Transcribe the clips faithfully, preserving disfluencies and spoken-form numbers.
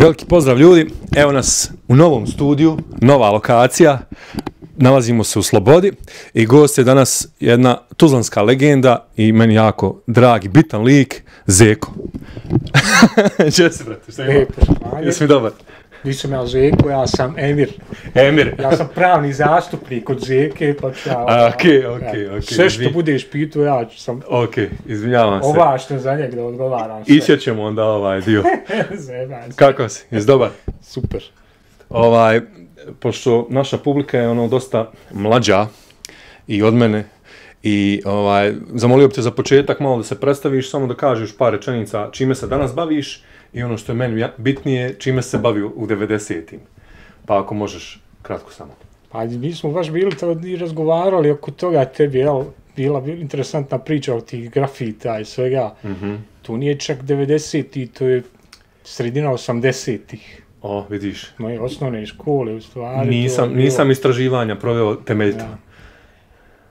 Veliki pozdrav ljudi, evo nas u novom studiju, nova lokacija, nalazimo se u Slobodi i gost je danas jedna tuzlanska legenda i meni jako dragi, bitan lik, Zeko. Če si, brate, šta ima? Jesi mi dobar? Nisam ja Zeko, ja sam Emir. Emir. Ja sam pravni zastupnik od Zeke, pa ću ja... Okej, okej, okej. Sve što budeš pitao, ja ću sam Okej, izvinjavam se. ovlašten za njeg da odgovaram sve. Iće ćemo onda ovaj dio. Zajebam se. Kako si? Jesi dobar? Super. Ovaj, pošto naša publika je ono dosta mlađa i od mene i ovaj, zamolio bih te za početak malo da se predstaviš, samo da kažeš par rečenica čime se danas baviš i ono što je meni bitnije, čime se bavio u devedesetim. Pa ako možeš, kratko samo. Pa mi smo baš bili to i razgovarali oko toga, tebi je bila interesantna priča o tih grafita i svega. Mm-hmm. To nije čak devedeseti, to je sredina osamdesetih. O, vidiš. Moje osnovne škole, u stvari. Nisam, bilo... nisam istraživanja proveo temeljito. Ja.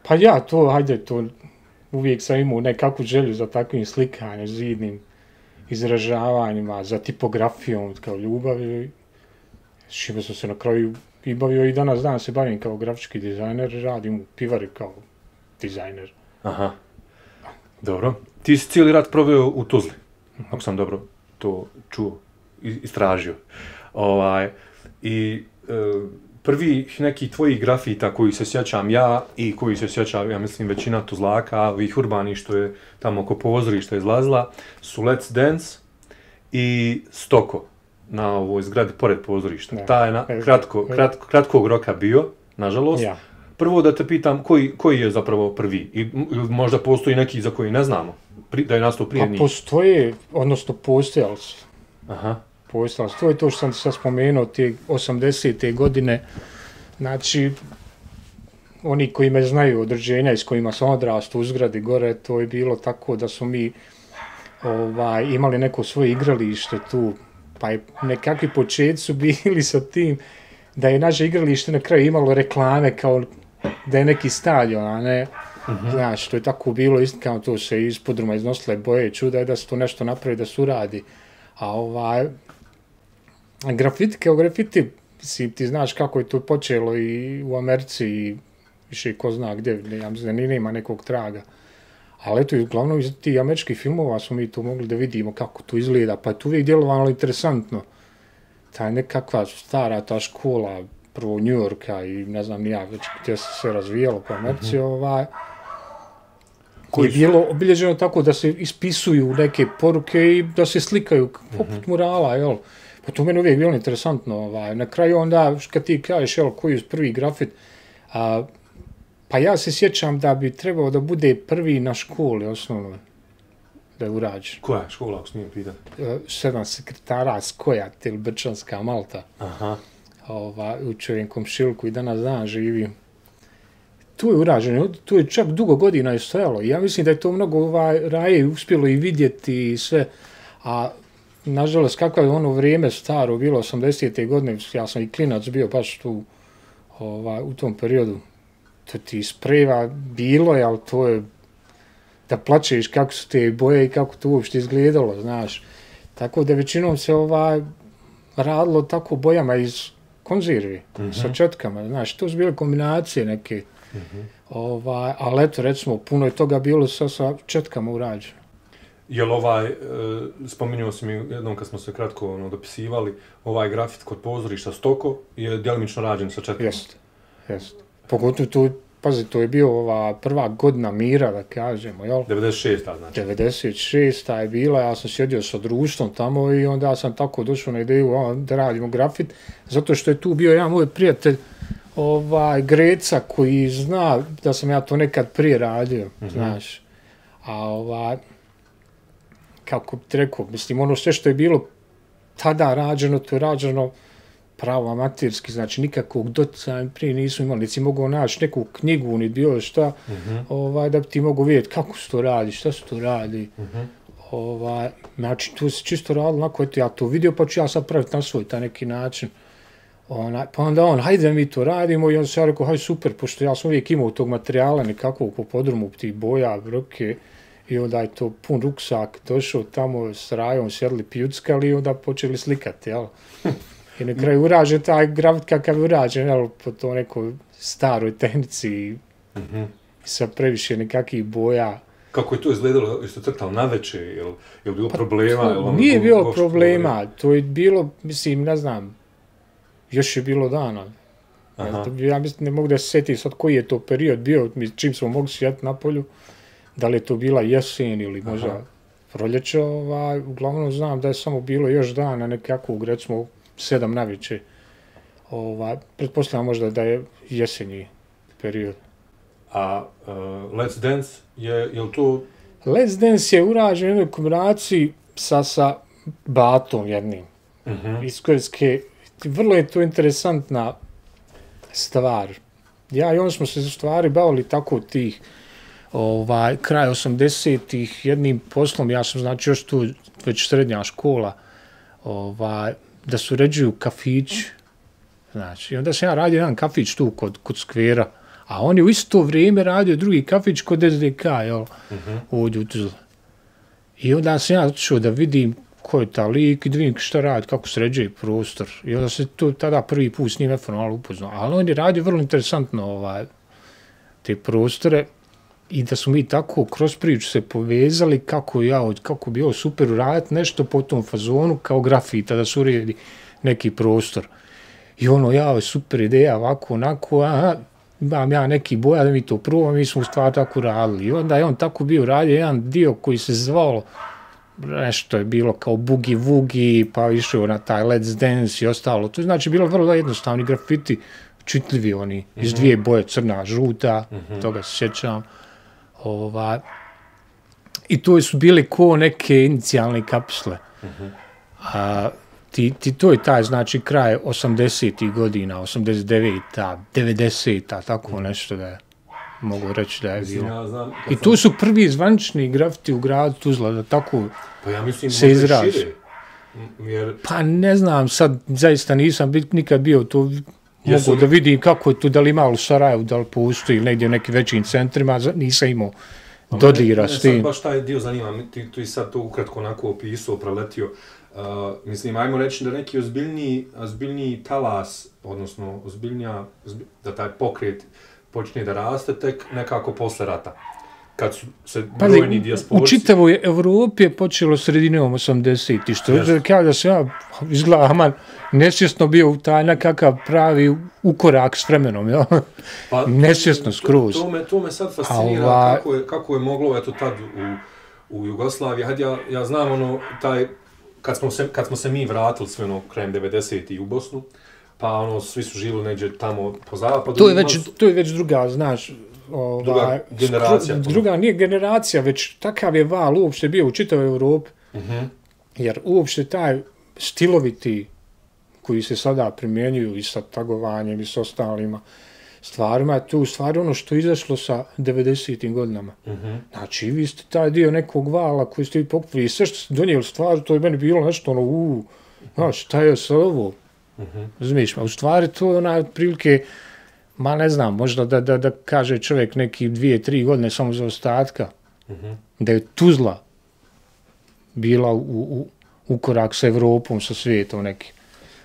Pa ja, to, hajde, to uvijek sam imao nekakvu želju za takvim slikanjem, zidnim izražavanjima, za tipografijom, kao ljubavi. S čime sam se na kraju i bavio i danas dan se bavim kao grafički dizajner, radim u pivari kao dizajner. Aha, dobro. Ti si cijeli rat proveo u Tuzli, ako sam dobro to čuo, istražio. Ovaj, I e, prvi neki tvojih grafita koji se sjećam ja i koji se sjećam, ja mislim, većina Tuzlaka, ovih urbani što je tamo oko pozorišta izlazila, su Let's Dance i Stoko na ovoj zgradi pored pozorišta. Da. Ta je na, kratko, kratko, kratkog roka bio, nažalost. Ja. Prvo da te pitam koji, koji je zapravo prvi i možda postoji neki za koji ne znamo, pri, da je nastao prije Pa njih. postoje, odnosno postojali su. Aha. Postojali su. To je to što sam sad spomenuo, te osamdesete godine. Znači, oni koji me znaju određenja iz kojima sam odrastao u zgradi gore, to je bilo tako da su mi ovaj, imali neko svoje igralište tu, pa je nekakvi početci su bili sa tim da je naše igralište na kraju imalo reklame kao da je neki stadion, a ne, uh-huh. Znaš, to je tako bilo, isto kao to se iz podruma iznosile boje, čuda je da se to nešto napravi, da se uradi. A ovaj, grafiti, kao grafiti, si, ti znaš kako je to počelo i u Americi i više ko zna gdje, ja mislim da nema nekog traga. Ali eto, uglavnom iz tih američkih filmova smo mi to mogli da vidimo kako to izgleda, pa je to uvijek djelovalo interesantno. Ta nekakva stara ta škola, prvo New Yorka i ne znam ni ja, već gdje se sve razvijalo po Americi, mm-hmm. ovaj, koji je bilo obilježeno tako da se ispisuju neke poruke i da se slikaju poput mm-hmm. murala, jel? Pa to meni uvijek bilo interesantno. Ovaj. Na kraju onda, kad ti kažeš, jel, koji je prvi grafit, a, pa ja se sjećam da bi trebao da bude prvi na školi osnovno da je urađen. Koja škola, ako smijem pitati? Sedam sekretara Skojat ili Brčanska Malta. Aha. Ova, u čovjem komšiluku i danas dan živi. Tu je urađeno, tu je čak dugo godina je stojalo. Ja mislim da je to mnogo ovaj, raje uspjelo i vidjeti i sve. A nažalost, kako je ono vrijeme staro bilo, osamdesete godine, ja sam i klinac bio baš tu ovaj, u tom periodu. To ti spreva bilo je, ali to je da plačeš kako su te boje i kako to uopšte izgledalo, znaš. Tako da većinom se ovaj, radilo tako bojama iz konzervi, mm-hmm. sa četkama, znaš, to su bile kombinacije neke. Mm-hmm. Ovaj, ali eto, recimo, puno je toga bilo sa, sa četkama urađeno. Jel ovaj, e, spominjao si mi jednom kad smo se kratko ono, dopisivali, ovaj grafit kod pozorišta Stoko je djelimično rađen sa četkama? Jeste, jeste. Pogotovo tu, pazi, to je bio ova prva godina mira, da kažemo, jel? devedeset šesta znači. devedeset šesta je bila, ja sam sjedio sa društvom tamo i onda sam tako došao na ideju o, da radimo grafit, zato što je tu bio jedan moj prijatelj, ovaj, Greca, koji zna da sam ja to nekad prije radio, mm-hmm. znaš. A ovaj, kako bi ti rekao, mislim, ono sve što je bilo tada rađeno, to je rađeno pravo amaterski, znači nikakvog doticaja prije nisu imali, niti si mogao naći neku knjigu, ni bilo šta, mm-hmm. ovaj, da bi ti mogao vidjeti kako se to radi, šta se to radi. Mm-hmm. Ovaj, znači, tu se čisto radilo, onako, eto, ja to vidio, pa ću ja sad praviti na svoj taj neki način. Ona, pa onda on, hajde mi to radimo i onda se ja rekao, hajde super, pošto ja sam uvijek imao tog materijala nekakvog po podrumu, tih boja, broke, i onda je to pun ruksak, došao tamo s rajom, sjedli pjuckali i onda počeli slikati, jel? I na kraju urađen taj grafit kakav je urađen, jel, po to nekoj staroj tehnici, mm-hmm. sa previše nekakvih boja. Kako je to izgledalo, jeste crtali na večer, je li je bilo pa problema? To, jel vam nije bilo bilo problema, to je bilo, mislim, ne znam, još je bilo dana. Ja, ja mislim, ne mogu da se sjetim sad koji je to period bio, čim smo mogli sjeti na polju, da li je to bila jesen ili možda Aha. proljeće, ovaj, uglavnom znam da je samo bilo još dana nekakvog, recimo, sedam navečer. Ovaj, pretpostavljam možda da je jesenji period. A uh, Let's Dance, je, je li to... Let's Dance je urađen u jednoj kombinaciji sa, sa Batom jednim. Uh-huh. Iz Kojske, vrlo je to interesantna stvar. Ja i on smo se stvari bavili tako tih ovaj, kraj osamdesetih jednim poslom, ja sam znači još tu već srednja škola, ovaj, da se uređuju kafići. Znači, onda sam ja radio jedan kafić tu kod, kod skvera, a on je u isto vrijeme radio drugi kafić kod S D K, jel, uh-huh. ovdje u Tuzli. I onda sam ja otišao da vidim ko je ta lik i da vidim šta radi, kako sređuje prostor. I onda se to tada prvi put s njim neformalno upoznao. Ali on je radio vrlo interesantno ovaj, te prostore i da smo mi tako kroz priču se povezali kako ja, kako bi ovo super uraditi nešto po tom fazonu kao grafita, da se uredi neki prostor. I ono, ja, super ideja, ovako, onako, aha, imam ja neki boja da mi to probam, mi smo u stvari tako radili. I onda je on tako bio radio jedan dio koji se zvalo, nešto je bilo kao Boogie Woogie, pa išao na taj Let's Dance i ostalo. To je znači bilo vrlo jednostavni grafiti, čitljivi oni, mm-hmm. iz dvije boje, crna, žuta, mm-hmm. toga se sjećam. Ova, I to su bili ko neke inicijalne kapsule. Mm-hmm. A, ti, ti, to je taj, znači, kraj osamdesetih godina, osamdeset deveta, devedeseta, tako mm-hmm. nešto da je. Mogu reći da je bilo. Ja znam, I tu su prvi zvanični grafiti u gradu Tuzla, da tako pa ja mislim, se izrazi. Jer... Pa ne znam, sad zaista nisam nikad bio tu, Jesu... mogu da vidim kako je tu, da li ima u Sarajevu, da li postoji ili negdje u nekim većim centrima, nisam imao pa dodira s tim. Sad baš taj dio zanima, ti, ti sad to ukratko onako opisao, preletio. Uh, mislim, ajmo reći da neki ozbiljniji, ozbiljniji talas, odnosno ozbiljnija, ozbilj, da taj pokret počne da raste tek nekako posle rata, kad su se brojni dijasporci... U čitavoj Evropi je počelo sredinom osamdesetih, što je kao da se ja izgledam nesvjesno bio u taj nekakav pravi ukorak s vremenom, ja? Pa, nesvjesno skroz. To, to, me, to me sad fascinira ova... kako, je, kako je moglo eto tad u, u Jugoslaviji. Hajde, ja, ja znam ono, taj, kad smo se, kad smo se mi vratili sve ono krajem devedesetih u Bosnu, pa ono, svi su živjeli negdje tamo po zapadu. To je već, su... to je već druga, znaš, ova, druga generacija. Skru, druga nije generacija, već takav je val uopšte bio u čitavoj Evropi. Uh-huh. Jer uopšte taj stiloviti koji se sada primjenjuju i sa tagovanjem i s ostalima stvarima, je to u stvari ono što je izašlo sa devedesetim godinama. Uh-huh. Znači, vi ste taj dio nekog vala koji ste vi pokupili i sve što ste donijeli stvari, to je meni bilo nešto ono, uuu, znaš, šta je sa ovo? Uh-huh. Razumiješ, a u stvari to je onaj prilike, ma ne znam, možda da, da, da kaže čovjek neki dvije, tri godine samo za ostatka, uh-huh. da je Tuzla bila u, u, u korak sa Evropom, sa svijetom nekim.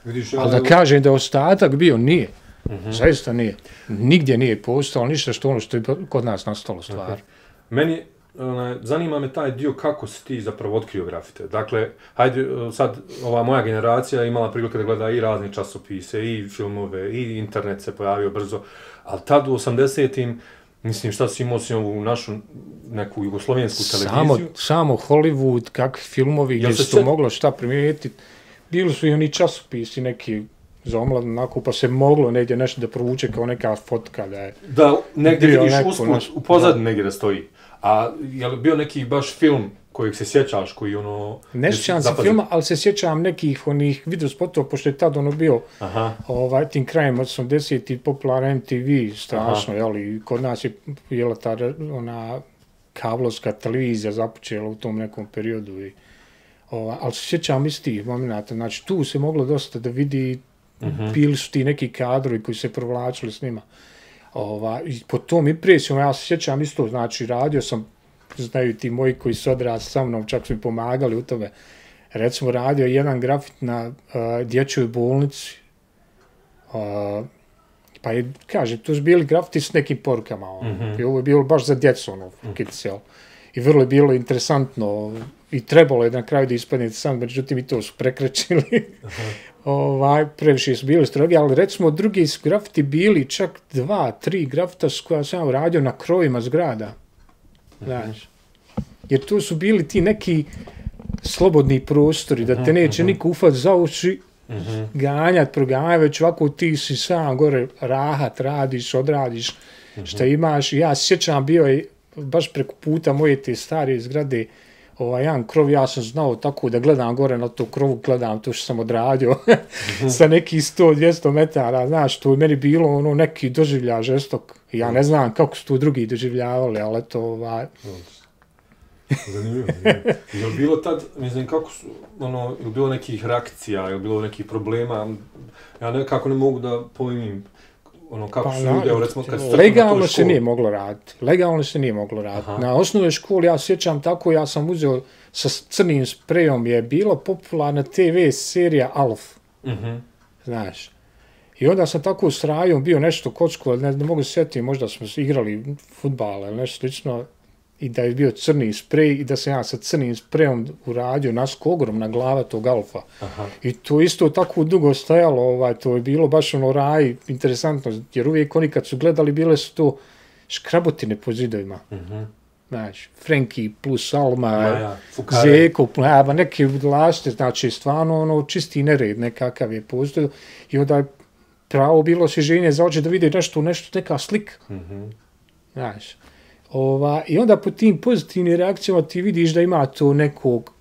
Vidiš, ja, ali da kažem da je ostatak bio, nije. Uh-huh. Zaista nije. Nigdje nije postalo ništa što ono što je kod nas nastalo stvar. Okay. Meni, onaj, zanima me taj dio kako si ti zapravo otkrio grafite. Dakle, hajde, sad ova moja generacija imala prilike da gleda i razne časopise, i filmove, i internet se pojavio brzo, ali tad u osamdesetim, mislim, šta si imao si ovu našu neku jugoslovensku televiziju? Samo, samo Hollywood, kakvi filmovi, gdje se to set... moglo šta primijetiti. Bili su i oni časopisi neki za omladnu onako, pa se moglo negdje nešto da provuče kao neka fotka da je... Da, negdje vidiš usput, naš... u pozadini negdje da stoji. A je li bio neki baš film kojeg se sjećaš, koji ono... Ne sjećam se filma, ali se sjećam nekih onih videospotova, pošto je tad ono bio ovaj, tim krajem osamdesetih popularan M T V, strašno, jeli, kod nas je jela ta ona kablovska televizija započela u tom nekom periodu i Ova, ali se sjećam iz tih momenta, znači tu se moglo dosta da vidi, uh-huh. bili su ti neki kadrovi koji se provlačili s njima. Ova, i po tom impresijom ja se sjećam isto, znači radio sam znaju ti moji koji su odrasli sa mnom, čak su mi pomagali u tome. Recimo, radio jedan grafit na uh, dječjoj bolnici. Uh, pa je, kaže, tu su bili grafiti s nekim porukama. Ono. Mm-hmm. I ovo je bilo baš za djecu, ono, mm-hmm. kids, jel? I vrlo je bilo interesantno. I trebalo je na kraju da ispadne sam, međutim i to su prekrečili. ovaj, previše su bili strogi, ali recimo drugi su grafiti bili čak dva, tri grafita s koja sam uradio na krovima zgrada. Znaš. Jer tu su bili ti neki slobodni prostori, da te neće niko ufat za uši, ganjat, proganjat, već ovako ti si sam gore rahat, radiš, odradiš šta imaš. Ja se sjećam, bio je baš preko puta moje te stare zgrade, ovaj jedan krov, ja sam znao tako da gledam gore na tu krovu, gledam to što sam odradio sa nekih sto do dvjesto metara, znaš, to je meni bilo ono neki doživlja žestok. Ja ne znam kako su tu drugi doživljavali, ali to ovaj... Zanimljivo. Je li bilo tad, mislim, kako su, ono, je li bilo nekih reakcija, je li bilo nekih problema? Ja nekako ne mogu da pojmim, ono, kako pa, su ljudi, evo, recimo, kad ste legalno se nije moglo raditi. Legalno se nije moglo raditi. Aha. Na osnovnoj školi, ja sjećam tako, ja sam uzeo sa crnim sprejom, je bila popularna te ve serija Alf. Uh-huh. Znaš. I onda sam tako s Rajom bio nešto kocko, ne, ne mogu se sjetiti, možda smo igrali fudbal ili nešto slično, i da je bio crni sprej i da sam ja sa crnim sprejom uradio nasko ogromna glava tog Alfa. Aha. I to isto tako dugo stajalo, ovaj, to je bilo baš ono Raj, interesantno, jer uvijek oni kad su gledali, bile su to škrabotine po zidovima. Uh-huh. Znaš, Frenki plus Alma, ja, Zeko, ja, neke budalašte, znači stvarno ono, čisti nered nekakav je postoji. I onda je pravo bilo osvježenje za oči da vidi nešto, nešto, neka slika. Uh-huh. Znaš. Ova, I onda po tim pozitivnim reakcijama ti vidiš da ima to nekog,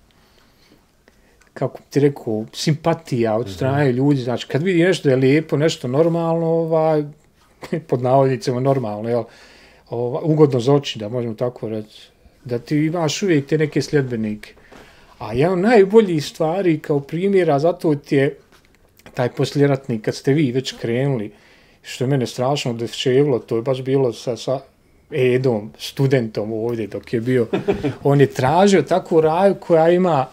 kako ti rekao, simpatija od strane mm-hmm. ljudi. Znači, kad vidi nešto da je lijepo, nešto normalno, ovaj, pod navodnicama normalno, jel, ovaj, ugodno za oči, da možemo tako reći, da ti imaš uvijek te neke sljedbenike. A jedan najboljih stvari kao primjera, zato ti je taj posljeratnik, kad ste vi već krenuli, što je mene strašno deševilo, to je baš bilo sa... sa Edom, studentom ovdje dok je bio, on je tražio takvu Raju koja ima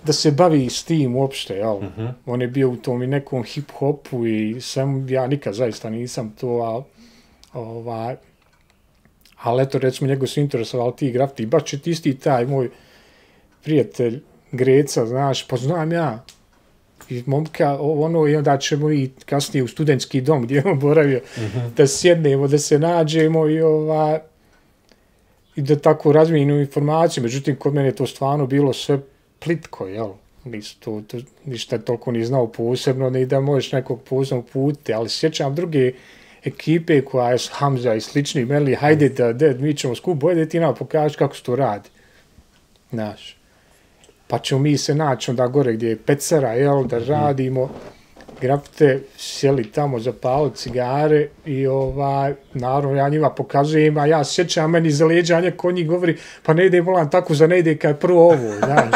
da se bavi s tim uopšte, jel? Uh-huh. On je bio u tom i nekom hip-hopu i sam, ja nikad zaista nisam to, ali, ovaj, ali eto, recimo, njegov su interesovali ti grafiti, baš će isti taj moj prijatelj Greca, znaš, pa znam ja, i momka, ono, i onda ćemo i kasnije u studentski dom gdje je on boravio, uh-huh. da sjednemo, da se nađemo i, ova, i da tako razmijenimo informaciju. Međutim, kod mene je to stvarno bilo sve plitko, jel? Nisu to, to ništa toliko ni znao posebno, ni da možeš nekog posebno putiti, ali sjećam druge ekipe koja je Hamza i slični, meli, hajde da, da mi ćemo skup, bolje da ti nam pokažeš kako se to radi. Znaš. Pa ćemo mi se naći onda gore gdje je pecara, jel, da radimo grafite, sjeli tamo, zapali cigare i ovaj, naravno ja njima pokazujem, a ja sjećam meni za leđanje ko njih govori, pa ne ide volan tako za ne ide kad prvo ovo, znaš.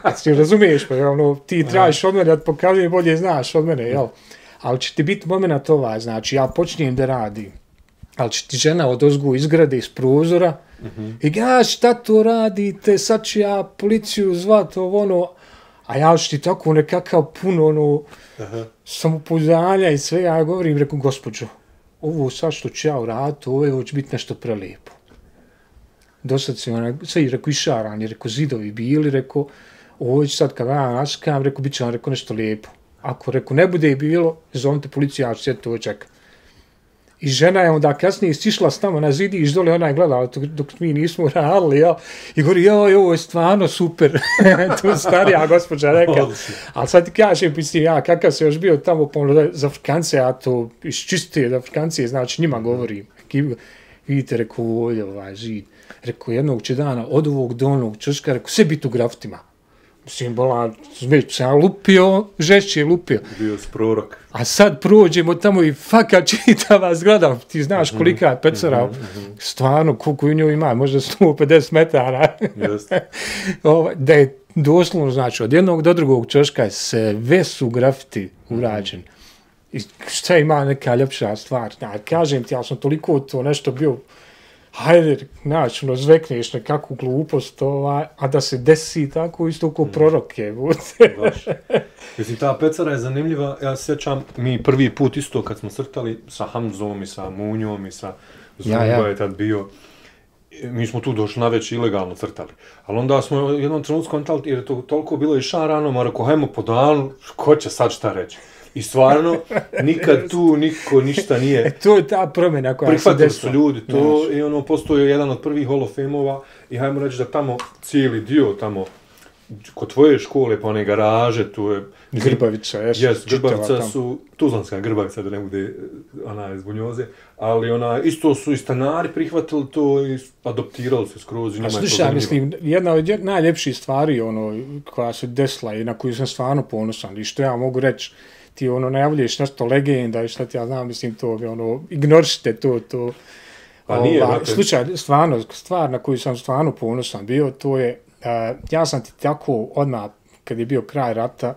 Kad ti razumiješ, pa ono, ti tražiš od mene da pokazujem, bolje znaš od mene, jel. Ali će ti biti moment ovaj, znači ja počnem da radim, ali će ti žena odozgu izgrade iz prozora, uh-huh. i ja, šta to radite, sad ću ja policiju zvat, ovo ono, a ja ću ti tako nekakav puno ono, uh-huh. samopouzdanja i sve, ja govorim, reku, gospođo, ovo sad što ću ja uraditi, ovo, ovo će biti nešto prelijepo. Dosad se ona, sve, reku, išarani, reku, zidovi bili, reku, ovo će sad kad ja naskam, reku, bit će vam, reku, nešto lijepo. Ako, reku, ne bude i bilo, zovite policiju, ja ću sjeti ovo čekam. I žena je onda kasnije stišla s tamo na zidiš dole, ona je gledala dok mi nismo radili, jel? I govori, joj, ovo je stvarno super. To starija gospođa rekla. Ali sad ti kažem, mislim, ja, kakav se još bio tamo pomno za Afrikance, ja to iščistuje za Afrikance, znači njima govorim. Vidite, rekao, ovdje ovaj zid. Rekao, jednog će dana od ovog dolnog čoška, rekao, sve biti u grafitima. Mislim, bola, već sam lupio, žešće je lupio. Bio si prorok. A sad prođemo tamo i faka čitava zgrada, ti znaš kolika je pecara, mm-hmm. stvarno, koliko u njoj ima, možda sto pedeset metara. Jeste. Da je doslovno, znači, od jednog do drugog čoška sve su grafiti urađeni. I šta ima neka ljepša stvar? Ja, kažem ti, ja sam toliko to nešto bio hajde, naći, ono, zvekneš nekakvu glupost, ovaj, a da se desi tako isto ko proroke. Baš. Mislim, ta pecara je zanimljiva, ja se sjećam, mi prvi put isto kad smo crtali sa Hamzom i sa Munjom i sa Zumba ja, ja. je tad bio, mi smo tu došli na već ilegalno crtali. Ali onda smo u jednom trenutku kontali, jer je to toliko bilo išarano, ma rekao, hajmo po danu, ko će sad šta reći? I stvarno, nikad tu niko ništa nije... E, to je ta promjena koja se desila. Prihvatili su ljudi to znači. I ono, postoji jedan od prvih Hall of Fame-ova i hajmo reći da tamo cijeli dio, tamo, kod tvoje škole, pa one garaže, tu je... Grbavica, jes. Yes, Grbavica su, Tuzlanska Grbavica, da ne bude ona iz Bunjoze, ali ona, isto su i stanari prihvatili to i adoptirali se skroz. A slušaj, mislim, jedna od najljepših stvari, ono, koja se desila i na koju sam stvarno ponosan, i što ja mogu reći, ti ono najavljuješ nešto legenda i šta ti ja znam, mislim, to, ono, ignorište to, to. Pa nije, ova, slučaj, stvarno, stvar na koju sam stvarno ponosan bio, to je, uh, ja sam ti tako odmah, kad je bio kraj rata,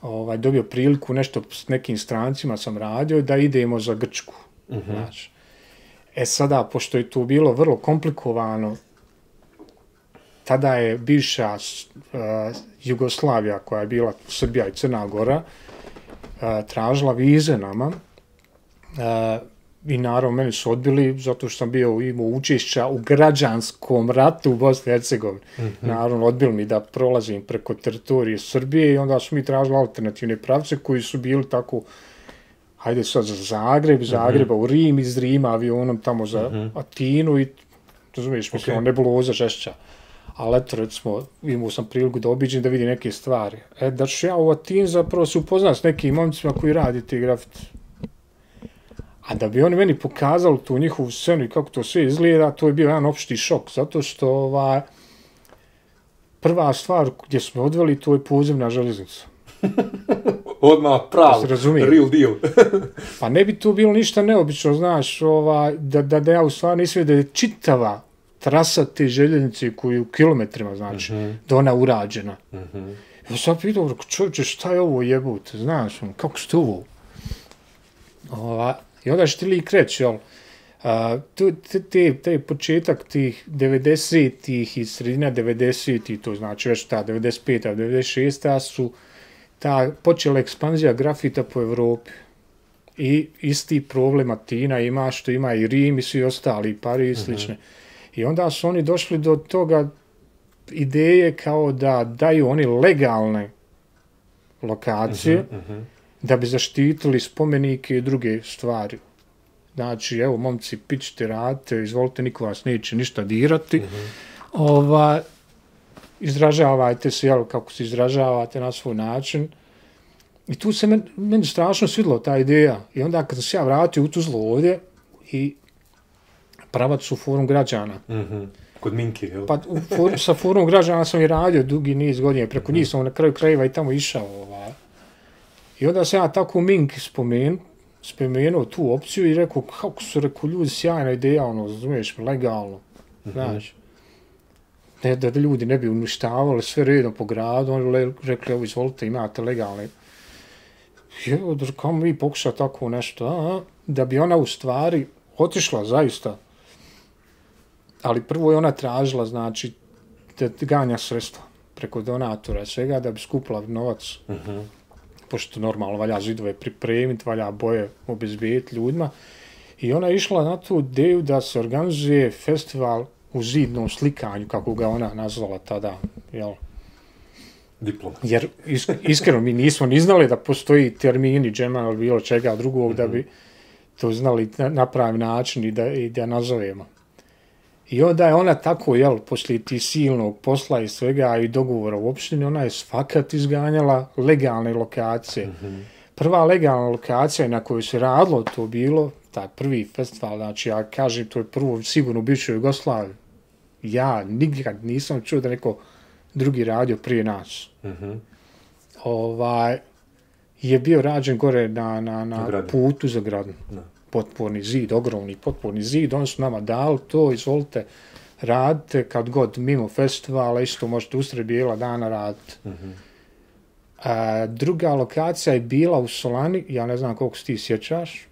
ovaj, dobio priliku, nešto s nekim strancima sam radio, da idemo za Grčku. Uh-huh. Znači. E sada, pošto je to bilo vrlo komplikovano, tada je bivša uh, Jugoslavija, koja je bila Srbija i Crna Gora, Uh, tražila vize nama uh, i naravno meni su odbili zato što sam bio imao učešća u građanskom ratu u Bosni i Hercegovini. Mm-hmm. Naravno odbili mi da prolazim preko teritorije Srbije i onda su mi tražili alternativne pravce koji su bili tako, hajde sad za Zagreb, Zagreba mm-hmm. u Rim, iz Rima avionom tamo za mm-hmm. Atinu i razumiješ, mislim, okay. nebuloza žešća. Ali eto, recimo, imao sam priliku da obiđem da vidim neke stvari. E, da ću ja u Atini zapravo se upoznat s nekim momcima koji radi te grafite. A da bi oni meni pokazali tu njihovu scenu i kako to sve izgleda, to je bio jedan opšti šok. Zato što ova, prva stvar gdje smo odveli, to je podzemna železnica. Odmah pravo, real deal. Pa ne bi tu bilo ništa neobično, znaš, ova, da, da, da ja u stvari nisam da je čitava trasa te željeznice koju u kilometrima, znači, mm-hmm. da ona urađena. Mm-hmm. Ja sam pitao, čovječe, šta je ovo jebute, znaš, kako ste ovo? Ova, I onda što ti lik reći, jel, a, te, te, te početak tih devedesetih i sredina devedesetih, to znači već ta devedeset peta, devedeset šesta su ta počela ekspanzija grafita po Evropi. I isti problem Atina ima što ima i Rim i svi ostali, i Pariz i slične. Mm-hmm. I onda su oni došli do toga ideje kao da daju oni legalne lokacije uh-huh, uh-huh. da bi zaštitili spomenike i druge stvari. Znači, evo, momci, pićite, radite, izvolite, niko vas neće ništa dirati. Uh-huh. Ova, izražavajte se, jel, kako se izražavate na svoj način. I tu se meni, meni strašno svidjela ta ideja. I onda kad sam se ja vratio u Tuzlu ovdje i pravac u forum građana. Mm-hmm. Kod Minki, jel? Pa u for, sa forum građana sam i radio dugi niz godina, preko njih sam na kraju krajeva i tamo išao. Ova. I onda sam ja tako u Minki spomen, spomenuo tu opciju i rekao, kako su, rekao, ljudi, sjajna ideja, ono, razumiješ, legalno, mm-hmm. znaš. Ne, da ljudi ne bi uništavali sve redom po gradu, oni rekli, evo, izvolite, imate legalne. I evo, kao mi pokušao tako nešto, a, da bi ona u stvari otišla, zaista. Ali prvo je ona tražila, znači, da ganja sredstva preko donatora i svega da bi skupila novac. Uh-huh. Pošto normalno valja zidove pripremiti, valja boje obezbijeti ljudima. I ona je išla na tu ideju da se organizuje festival u zidnom slikanju, kako ga ona nazvala tada. Jel? Diploma. Jer is, iskreno mi nismo ni znali da postoji termini džema ili bilo čega drugog uh-huh. da bi to znali na, na pravi način i da, i da nazovemo. I onda je ona tako, jel, poslije ti silnog posla i svega i dogovora u opštini, ona je svakat izganjala legalne lokacije. Mm-hmm. Prva legalna lokacija na kojoj se radilo to bilo, taj prvi festival, znači ja kažem, to je prvo sigurno u bivšoj Jugoslaviji. Ja nikad nisam čuo da neko drugi radio prije nas. Mm-hmm. Ovaj, je bio rađen gore na, na, na putu za Gradnu. No. Potporni zid, ogromni potporni zid, oni su nama dali to, izvolite, radite kad god mimo festivala, isto možete usred bijela dana raditi. Mm-hmm. A, druga lokacija je bila u Solani, ja ne znam koliko se ti sjećaš,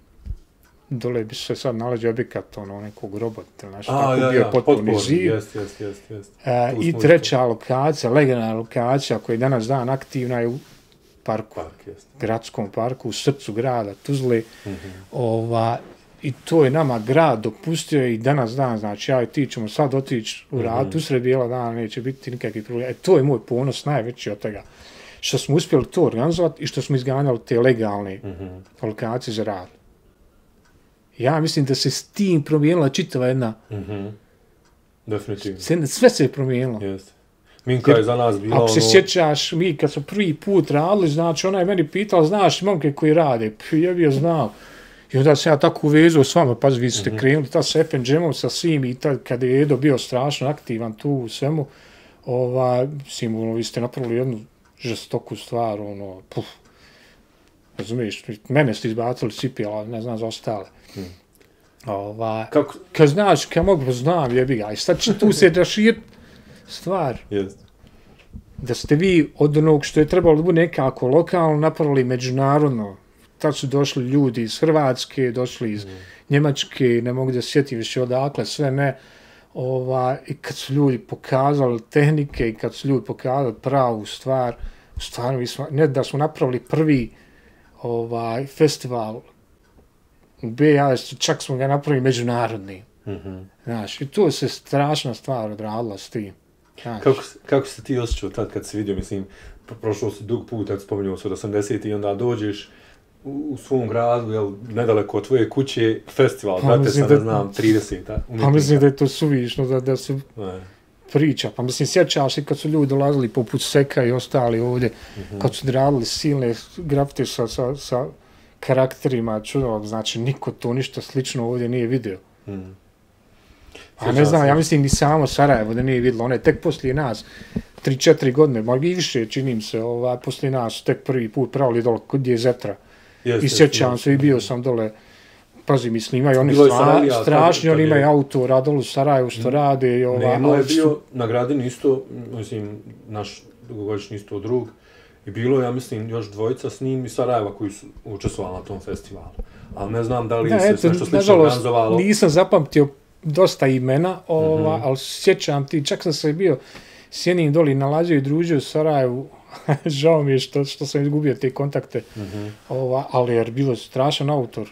dole bi se sad nalazi objekat ono nekog robota ili nešto A, tako, ja, bio ja, potporni zid. Jest, jest, jest, jest. E, I treća lokacija, legendarna lokacija koja je danas dan aktivna je u parku, Park, jest. gradskom parku, u srcu grada Tuzle. Mm-hmm. Ova, I to je nama grad dopustio i danas dan, znači ja i ti ćemo sad otići u rad, mm-hmm. usred bijela dana neće biti nikakvih problema. E, to je moj ponos najveći od toga. Što smo uspjeli to organizovati i što smo izganjali te legalne mm-hmm. lokacije za rad. Ja mislim da se s tim promijenila čitava jedna... Mm-hmm. Definitivno. Sve se je promijenilo. Jeste. Minka je za nas bila ako ono... se sjećaš, mi kad smo prvi put radili, znači ona je meni pitala, znaš momke koji rade? P, ja bi je znao. I onda sam ja tako uvezao s vama, pazi, vi ste mm-hmm. krenuli ta sa F N Jamom, sa svim i tad kada je Edo bio strašno aktivan tu u svemu, ovaj, mislim, vi ste napravili jednu žestoku stvar, ono, puf, razumiješ, mene ste izbacili cipijela, ne znam za ostale. Mm. Ova, Kako? Kad znaš, kad mogu, znam, jebi ga, i sad će tu se raširiti stvar. Yes. Da ste vi od onog što je trebalo da bude nekako lokalno napravili međunarodno. Tad su došli ljudi iz Hrvatske, došli iz mm. Njemačke, ne mogu da sjetim više odakle, sve ne. Ova, I kad su ljudi pokazali tehnike i kad su ljudi pokazali pravu stvar, stvarno, ne da smo napravili prvi ovaj, festival u B i A, čak smo ga napravili međunarodni. Mm-hmm. Znaš, i to se strašna stvar odradila s tim. Kako, kako se ti osjećao tad kad si vidio, mislim, prošlo si dug put, kad spomenuo se od osamdesetih i onda dođeš u, u svom gradu, jel, nedaleko od tvoje kuće, festival, pa, brate, sad ne znam, trideset umjetnika. Pa mislim da je to suvišno, da, da se ne. priča. Pa mislim, sjećaš i kad su ljudi dolazili poput Seka i ostali ovdje, mm-hmm. kad su radili silne grafite sa, sa, sa karakterima, čudovog, znači niko to ništa slično ovdje nije vidio. Mm. A ne znam, ja mislim ni samo Sarajevo da nije vidjelo, one tek poslije nas, tri četiri godine, možda i više činim se, ovaj, poslije nas tek prvi put pravili dole kod je Zetra. Yes, I sjećam yes, se, yes. i bio sam dole, pazi, mislim, imaju oni stra, strašni, oni imaju autora dole u Sarajevu što rade. I ova, Nemo je bio na Gradini isto, mislim, naš dugogodišnji isto drug, i bilo, ja mislim, još dvojica s njim iz Sarajeva koji su učestvovali na tom festivalu. Ali ne znam da li da, se eto, nešto slično organizovalo. Nisam zapamtio dosta imena, ova, mm-hmm. ali sjećam ti, čak sam se bio s jednim doli nalazio i družio u Sarajevu, žao mi je što, što sam izgubio te kontakte, mm-hmm. ova, ali jer bilo strašan autor.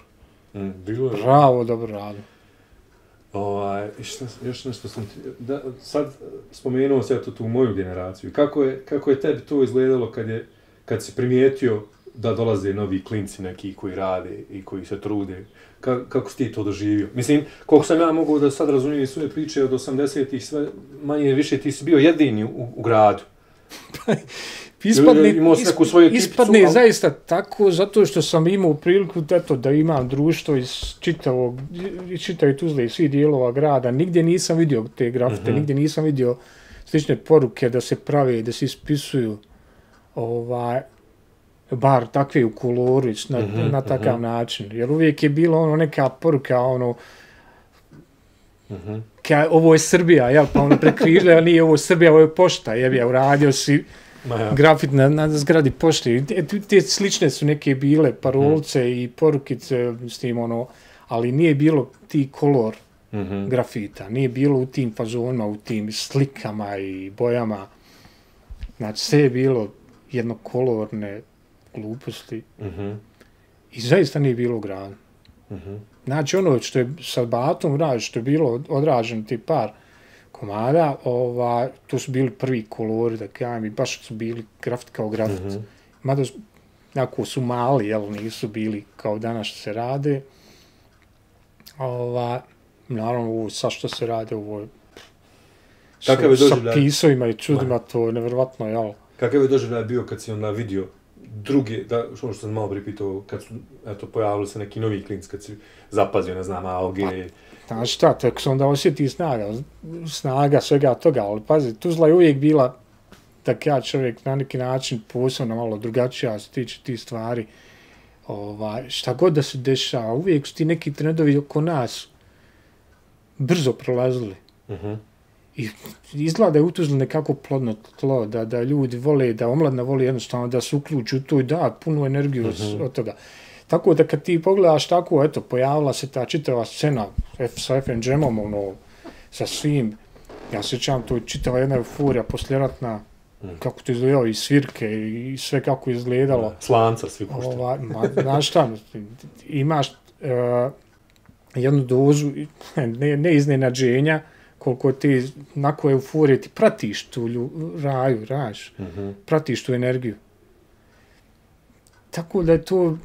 Mm, bilo je. Bravo, dobro rado. Ovaj, još nešto sam ti, da, sad spomenuo se eto tu moju generaciju. Kako je, kako je tebi to izgledalo kad, je, kad si primijetio da dolaze novi klinci neki koji rade i koji se trude? Ka, kako si ti to doživio? Mislim, koliko sam ja mogu da sad razumijem svoje priče od osamdesetih, sve manje više ti si bio jedini u, u gradu. Ispadne, isp, ispadne ali... zaista tako, zato što sam imao priliku eto, da imam društvo iz čitavog, iz čitave Tuzle i svih dijelova grada. Nigdje nisam vidio te grafite, mm-hmm. nigdje nisam vidio slične poruke da se prave, da se ispisuju, ovaj, bar takve u koloru, na, mm-hmm, na takav mm-hmm. način. Jer uvijek je bilo ono neka poruka, ono, mm-hmm. ka, ovo je Srbija, jel, pa ono prekrižili, a nije ovo Srbija, ovo je pošta, jel, ja uradio si ja. grafit na, na zgradi pošte. Te, te slične su neke bile parolce mm. i porukice s tim, ono, ali nije bilo ti kolor mm-hmm. grafita, nije bilo u tim fazonima, u tim slikama i bojama. Znači, sve je bilo jednokolorne gluposti mm-hmm. i zaista nije bilo u gradu. Mm-hmm. Znači, ono što je sa Batom radi, što je bilo odraženo ti par komada, ova, to su bili prvi kolori, da kajem, i baš su bili grafit kao grafit. Mm-hmm. Mada jako su mali, jel, nisu bili kao danas što se rade. Ova, naravno, ovo sa što se rade, ovo je sa, sa pisovima i čudima, to je nevjerovatno, jel? Kakav je doživljaj bio kad si onda vidio druge, da, što sam malo pripitao, kad su, eto, pojavili se neki novi klinci, kad si zapazio, ne znam, A O G. Pa, znaš šta, tako sam onda osjeti snaga, snaga svega toga, ali pazi, Tuzla je uvijek bila, tak ja čovjek na neki način posebno malo drugačija se tiče tih stvari. Ovaj, šta god da se dešava, uvijek su ti neki trendovi oko nas brzo prolazili. Uh-huh. I izgleda da je u Tuzli nekako plodno tlo, da, da ljudi vole, da omladna voli jednostavno da se uključi u to i da punu energiju uh-huh. od toga. Tako da kad ti pogledaš tako, eto, pojavila se ta čitava scena F, sa F and Jamom, ono, sa svim, ja se sjećam, to je čitava jedna euforija posljeratna, mm. kako to izgledalo, i svirke, i sve kako je izgledalo. Slanca svi pušteni. Ova, ma, znaš šta, imaš uh, jednu dozu, ne, ne iznenađenja, koliko ti, nakon euforije, ti pratiš tu lju, raju, raš, mm-hmm. pratiš tu energiju. Tako da je to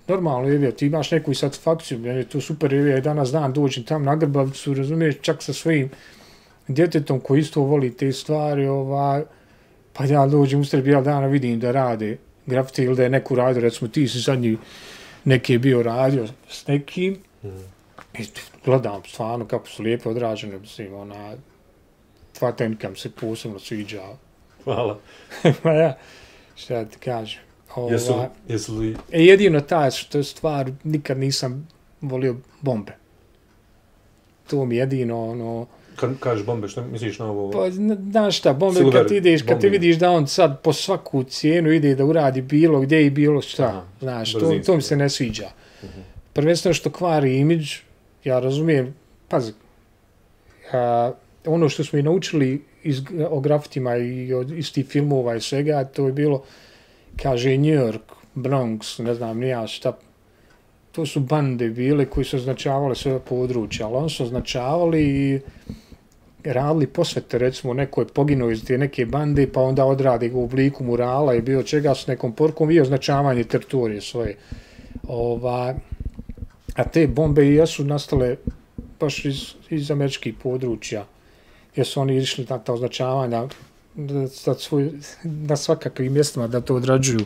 normalno, je, ti imaš neku satisfakciju, meni je to super, je, danas dan dođem tam na Grbavicu, razumiješ, čak sa svojim djetetom koji isto voli te stvari, ovaj, pa ja dođem u Srbiju dana, vidim da rade grafiti ili da je neku radio, recimo ti si zadnji neki je bio radio s nekim, mm. i gledam stvarno kako su lijepo odrađene, mislim, ona, dva tenka mi se posebno sviđa. Hvala. Pa ja, šta ti kažem. Ova, jesu, jesu li... E, jedino ta što stvar, nikad nisam volio bombe. To mi jedino, ono... Kad kažeš bombe, što misliš na ovo? Pa, znaš šta, bombe Silver, kad ideš, kad ti vidiš da on sad po svaku cijenu ide da uradi bilo gdje i bilo šta, aha, znaš, to, to mi se ne sviđa. Uh-huh. Prvenstveno što kvari imidž, ja razumijem, pazi, a, ono što smo i naučili iz, o grafitima i od, iz tih filmova i svega, to je bilo, kaže New York, Bronx, ne znam, nija šta, to su bande bile koji su označavale sve područja, ali oni su označavali i radili posvete, recimo, neko je poginuo iz te neke bande, pa onda odradi ga u obliku murala i bilo čega s nekom porkom i označavanje teritorije svoje. Ova, a te bombe i jesu nastale baš iz, iz američkih područja, jer su oni išli na ta označavanja da, da svoj, na svakakvim mjestima da to odrađuju.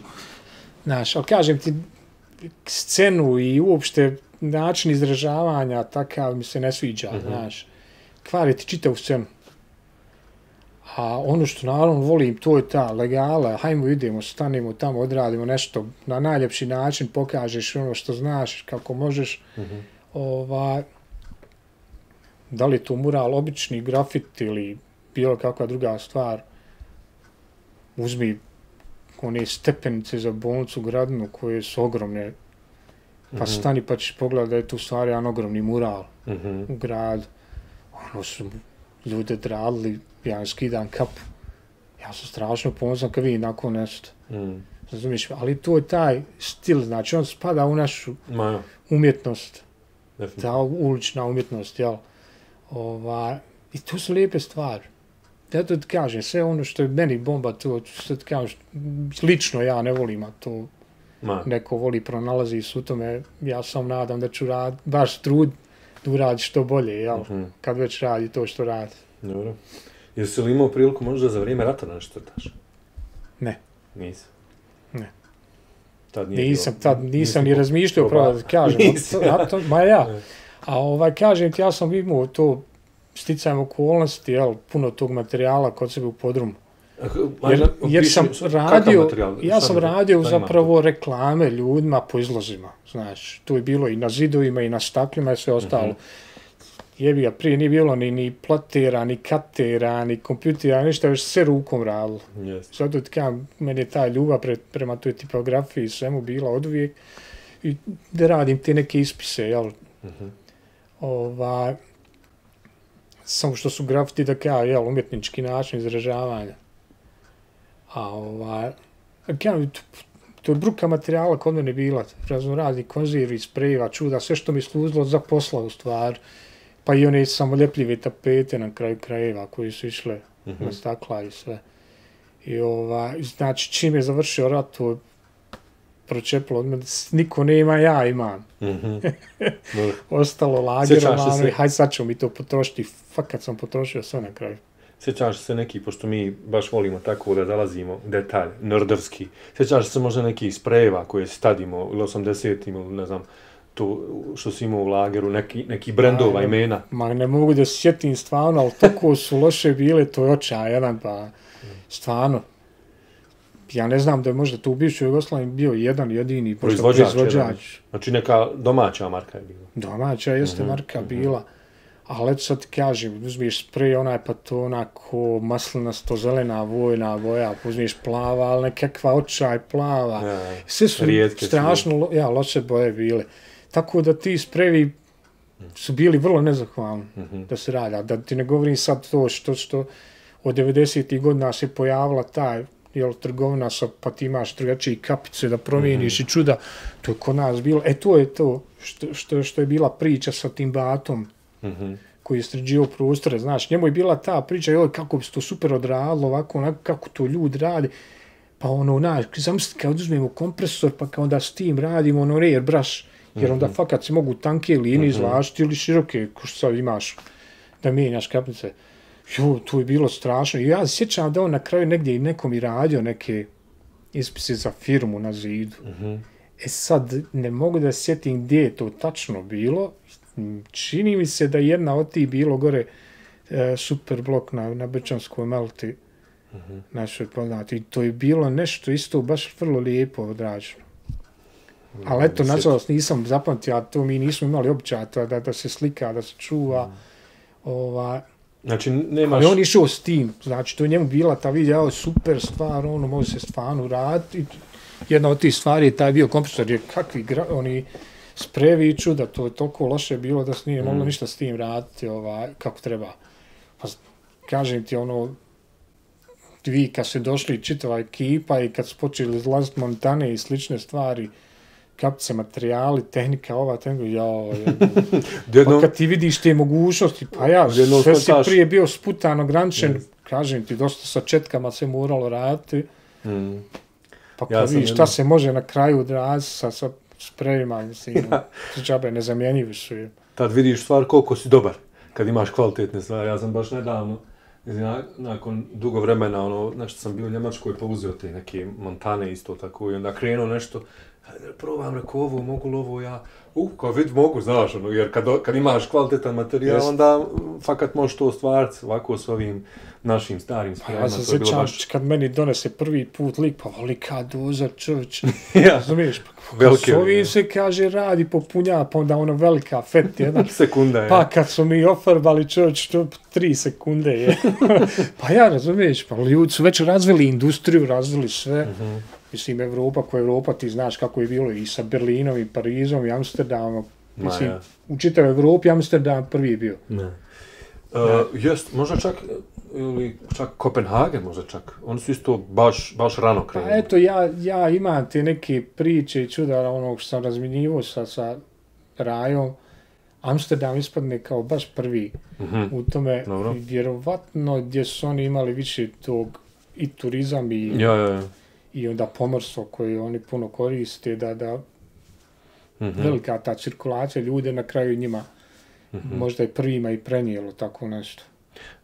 Znaš, ali kažem ti, scenu i uopšte način izražavanja takav mi se ne sviđa, mm-hmm. znaš. Kvari ti čitavu scenu. A ono što naravno volim, to je ta legala, hajmo idemo, stanemo tamo, odradimo nešto, na najljepši način pokažeš ono što znaš, kako možeš. Mm-hmm. Ova, da li je to mural, obični grafit ili bilo kakva druga stvar, uzmi one stepenice za bolnicu Gradinu koje su ogromne, pa mm-hmm. stani pa ćeš pogledati da je tu stvari jedan ogromni mural mm-hmm. u gradu. Ono su ljude dradili, ja skidam kapu. Ja sam strašno ponosan kad vidim nakon nešto. Mm. Razumiješ? Ali to je taj stil, znači on spada u našu Majo. umjetnost. Ta ulična umjetnost, jel? Ova, i to su lijepe stvari. Ja to ti kažem, sve ono što je meni bomba, to što ti kažem, lično ja ne volim, a to Ma. neko voli, pronalazi su u tome, ja sam nadam da ću rad, baš trud da uradi što bolje, jel? Uh-huh. Kad već radi to što radi. Dobro. Jesi li imao priliku možda za vrijeme rata nešto crtaš? Ne. Nisam. Ne. Tad nije nisam, bilo, tad nisam ni razmišljao, pravo da kažem. to, ma ja. A ovaj, kažem ti, ja sam imao to sticajem okolnosti, jel, puno tog materijala kod sebe u podrumu. Jer, jer sam radio, ja sam radio zapravo reklame ljudima po izlozima, znaš, to je bilo i na zidovima i na staklima i sve ostalo. Uh-huh. Jebi ga, prije nije bilo ni, ni platera, ni katera, ni kompjutera, ništa, već sve rukom radilo. Yes. Zato ti kažem, meni je ta ljubav pre, prema toj tipografiji i svemu bila od uvijek i da radim te neke ispise, jel? Uh-huh. Ovaj, samo što su grafiti da kao, jel, umjetnički način izražavanja. A ovaj, kao, to, to je bruka materijala kod mene bila, razno razni konzervi, sprejeva, čuda, sve što mi služilo za posla u stvar, pa i one samoljepljive tapete na kraju krajeva koji su išle mm-hmm. na stakla i sve. I ovaj, znači, čim je završio rat, to je pročepilo od mene, niko nema, ja imam. Mm-hmm. Ostalo lagerovano i hajde sad ćemo mi to potrošiti, fakat sam potrošio sve na kraju. Sjećaš se neki, pošto mi baš volimo tako da zalazimo u detalj, nerdovski, sjećaš se možda nekih sprejeva koje stadimo ili osamdesetim ili ne znam, to što si imao u lageru, neki, neki brendova, imena? Ma ne mogu da se sjetim stvarno, ali tako su loše bile, to je očaj jedan, pa stvarno. Ja ne znam da je možda tu u bivšoj Jugoslaviji bio jedan jedini proizvođač. proizvođač. Znači neka domaća marka je bila. Domaća jeste mm-hmm. marka bila. Ali eto sad ti kažem, uzmiješ sprej, onaj pa to onako maslinasto zelena vojna boja, uzmiješ plava, ali nekakva očaj plava. Ja, sve su strašno ja, loše boje bile. Tako da ti sprejevi su bili vrlo nezahvalni mm-hmm. da se radi. Da ti ne govorim sad to što, što od devedesetih godina se pojavila ta jel, trgovina sa, pa ti imaš drugačije kapice da promijeniš mm-hmm. i čuda. To je kod nas bilo. E to je to što, što, što je bila priča sa tim Batom. Mm-hmm. koji je sređio prostore, znaš, njemu je bila ta priča, joj, kako bi se to super odradilo, ovako, onako, kako to ljudi radi, pa ono, znaš, zamislite, kad uzmemo kompresor, pa kad onda s tim radimo, ono, rear brush, jer onda mm-hmm. fakat se mogu tanke linije mm-hmm. izvlačiti ili široke, ko što sad imaš, da mijenjaš kapljice. Jo, to je bilo strašno. I ja se sjećam da on na kraju negdje i nekom i radio neke ispise za firmu na zidu. Mm-hmm. E sad, ne mogu da sjetim gdje je to tačno bilo. Čini mi se da jedna od tih bilo gore e, super blok na, na Brčanskoj Malti, mm-hmm. našoj poznati. I to je bilo nešto isto baš vrlo lijepo odrađeno. Mm, ali eto, nažalost, nisam zapamtio, a to mi nismo imali običaj da, da se slika, da se čuva. Mm. Ova, znači, nemaš... Ali on išao s tim, znači, to je njemu bila ta vidjela super stvar, ono, može se stvarno raditi. Jedna od tih stvari je taj bio kompresor, jer kakvi gra, oni sprejevi čuda, to je toliko loše bilo da se nije mm. moglo ništa s tim raditi ovaj, kako treba. Pa kažem ti, ono, vi kad se došli čitava ekipa i kad su počeli izlaziti montane i slične stvari, kapice, materijali, tehnika, ova, tehnika, jao, pa kad ti vidiš te mogućnosti, pa ja, sve si prije bio sputan, ograničen, yes. kažem ti, dosta sa četkama se moralo raditi, mm. pa kad ja vidiš šta se može na kraju odraziti sa, sa sprejima, mislim, ja. džabe nezamjenjivi su. Tad vidiš stvar koliko si dobar, kad imaš kvalitetne stvari. Ja sam baš nedavno, nakon dugo vremena, ono, nešto sam bio u Njemačkoj, pa uzeo te neke montane isto tako i onda krenuo nešto, probam, rekao ovo, mogu li ovo ja, uh, kao vid, mogu, znaš, ono, jer kad, kad imaš kvalitetan materijal, yes. onda fakat možeš to ostvariti ovako s ovim našim starim spremima. Ja se sjećam, baš... kad meni donese prvi put lik, pa velika doza čovječ, ja. razumiješ, pa s ovim se kaže radi popunja, pa onda ono velika fet jedna. Sekunda je. Pa kad su mi ofarbali čovječ, to tri sekunde je. Pa ja, razumiješ, pa ljudi su već razvili industriju, razvili sve. Mm-hmm. Mislim, Evropa, ko Evropa, ti znaš kako je bilo i sa Berlinom, i Parizom, i Amsterdamom. Mislim, ja. u čitavoj Evropi Amsterdam prvi je bio. Ne. Uh, jest, možda čak, ili čak Kopenhagen možda čak. Oni su isto baš, baš rano krenuli. Pa eto, ja, ja imam te neke priče i čuda onog što sam razminjivo sa, sa Rajom. Amsterdam ispadne kao baš prvi mm-hmm. u tome. Dobro. Vjerovatno gdje su oni imali više tog i turizam i... Ja, ja, ja. i onda pomorstvo koje oni puno koriste, da, da mm-hmm. velika ta cirkulacija ljude na kraju njima mm-hmm. možda i prvima i prenijelo tako nešto.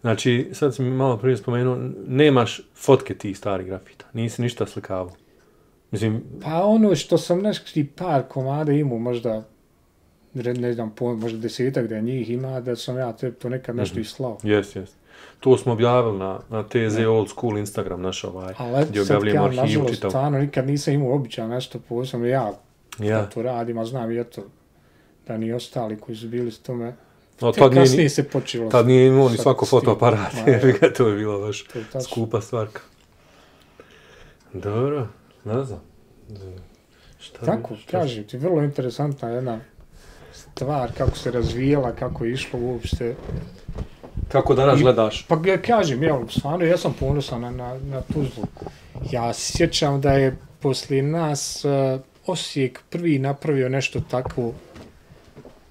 Znači, sad sam mi malo prije spomenuo, nemaš fotke tih starih grafita, nisi ništa slikavao. Mislim... Pa ono što sam neki par komada imao, možda, ne znam, možda desetak da njih ima, da sam ja to nekad nešto mm-hmm. i slao. Jes, jes. To smo objavili na, na T Z Old School Instagram naš ovaj, ali gdje objavljamo arhivu čitav. Ali stvarno nikad nisam imao običaj nešto posebno, ja, ja. to radim, a znam i eto, da ni ostali koji su bili s tome, no, te kasnije nije, se počelo. Tad nije imao ni svako fotoaparat, jer to je bilo baš skupa stvarka. Dobro, ne znam. Šta tako, kažem ti, vrlo interesantna jedna stvar, kako se razvijela, kako je išlo uopšte. Kako danas I, gledaš? Pa ja kažem, ja, stvarno, ja sam ponosan na, na, na Tuzlu. Ja sjećam da je poslije nas uh, Osijek prvi napravio nešto tako,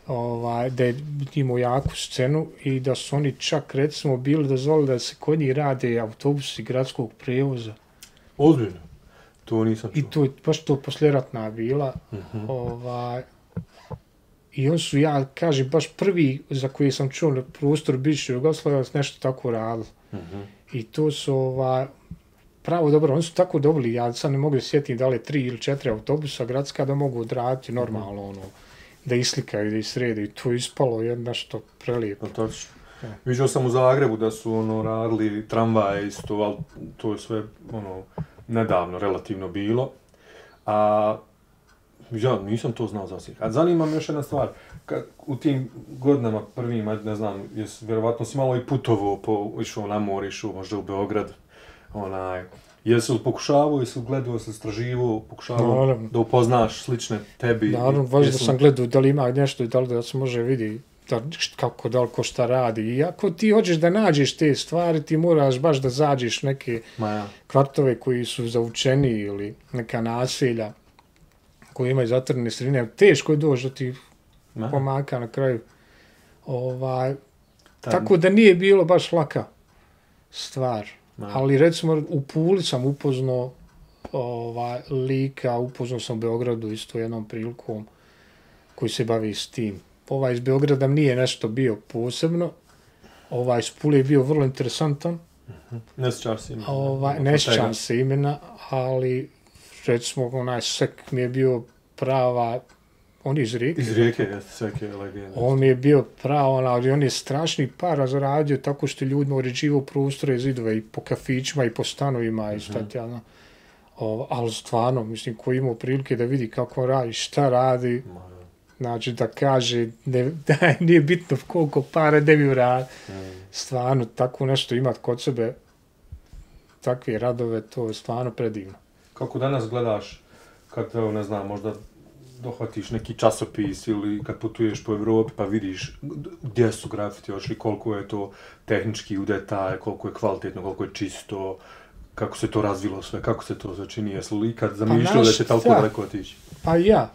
ovaj, da je imao jaku scenu i da su oni čak, recimo, bili dozvolili da se kod njih rade autobusi gradskog prevoza. Ozbiljno? To nisam čuo. I to je baš to posljeratna bila. Uh-huh. Ovaj, I on su, ja kažem, baš prvi za koji sam čuo na prostoru bivše Jugoslavije nešto tako radili. Mm-hmm. I to su ova, pravo dobro, oni su tako dobili, ja sad ne mogu sjetiti da li je tri ili četiri autobusa gradska da mogu odraditi normalno, ono, da islikaju, da isrede. I to je ispalo jedno što prelijepo. No, točno. Ja. Vidio sam u Zagrebu da su ono radili tramvaje isto, ali to je sve ono nedavno relativno bilo. A Ja nisam to znao za Osijek. A zanima me još jedna stvar. Kad, u tim godinama prvima, ne znam, jes, vjerovatno si malo i putovao, po, išao na more, išao možda u Beograd. Onaj, jesi li pokušavao, jesi li gledao, jesi li istraživao, pokušavao naravno da upoznaš slične tebi? Naravno, važno da sam gledao da li ima nešto i da li da se može vidjeti da, kako, da li ko šta radi. I ako ti hoćeš da nađeš te stvari, ti moraš baš da zađeš neke ja. kvartove koji su zavučeni ili neka naselja koji imaju zatvorene sredine. Teško je doći da ti ja. pomaka na kraju. Ovaj, tako da nije bilo baš laka stvar. Ja. Ali recimo u Puli sam upoznao ovaj, lika, upoznao sam u Beogradu isto jednom prilikom koji se bavi s tim. Ovaj iz Beograda nije nešto bio posebno, ovaj iz Pule je bio vrlo interesantan. Uh-huh. Ne sjećam se imena. Ovaj, ne sjećam se imena, ali recimo onaj Sek mi je bio prava, on je iz Rijeke. Iz Rijeke, jeste, Sek je legenda. On mi je bio pravo, ali on je strašni para zaradio tako što ljudima uređivao prostore, zidove i po kafićima i po stanovima uh-huh. i šta ti ja, o, ali stvarno, mislim, ko imao prilike da vidi kako radi, šta radi, Ma. Znači da kaže ne, da nije bitno koliko para ne bi uradi. Mm. Stvarno, tako nešto imati kod sebe, takve radove, to je stvarno predivno. Kako danas gledaš, kad, ne znam, možda dohvatiš neki časopis ili kad putuješ po Evropi pa vidiš gdje su grafiti ošli, koliko je to tehnički u detalje, koliko je kvalitetno, koliko je čisto, kako se to razvilo sve, kako se to začini, jesu li ikad zamišljao pa da će toliko daleko otići? Pa ja.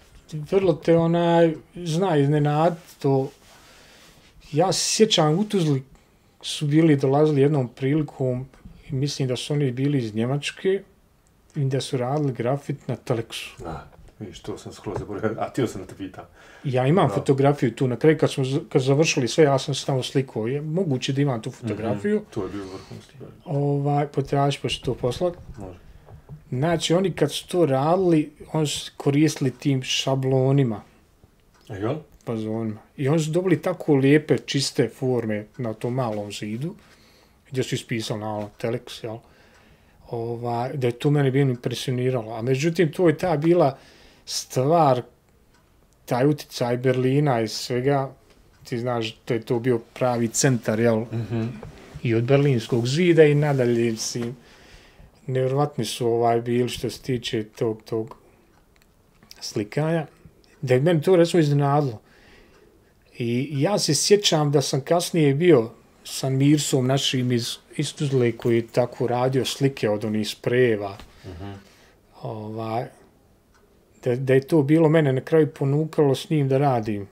Vrlo te onaj, zna iznenad, to, ja se sjećam, u Tuzli su bili, dolazili jednom prilikom, i mislim da su oni bili iz Njemačke, i da su radili grafit na Teleksu. A, vidiš, to sam skoro zaboravio, a ti sam da te pitam. Ja imam no. fotografiju tu, na kraju kad smo kad završili sve, ja sam se tamo slikao, je moguće da imam tu fotografiju. Mm-hmm. To je bio vrhunski. Ovaj, potražiš pa ću to poslati. Može. Znači, oni kad su to radili, oni su koristili tim šablonima. Jel? Pazonima. I oni su dobili tako lijepe, čiste forme na tom malom zidu, gdje su ispisali na ono, Telex, jel? Ova, da je to mene bilo impresioniralo. A međutim, to je ta bila stvar, taj uticaj Berlina i svega, ti znaš, to je to bio pravi centar, jel? Mm-hmm. I od Berlinskog zida i nadalje, si, nevjerovatni su ovaj bili što se tiče tog, tog slikanja, da je meni to recimo iznenadilo. I ja se sjećam da sam kasnije bio sa Mirsom našim iz, iz Tuzle koji je tako radio slike od onih sprejeva. Uh-huh. Ovaj, da, da je to bilo mene na kraju ponukalo s njim da radim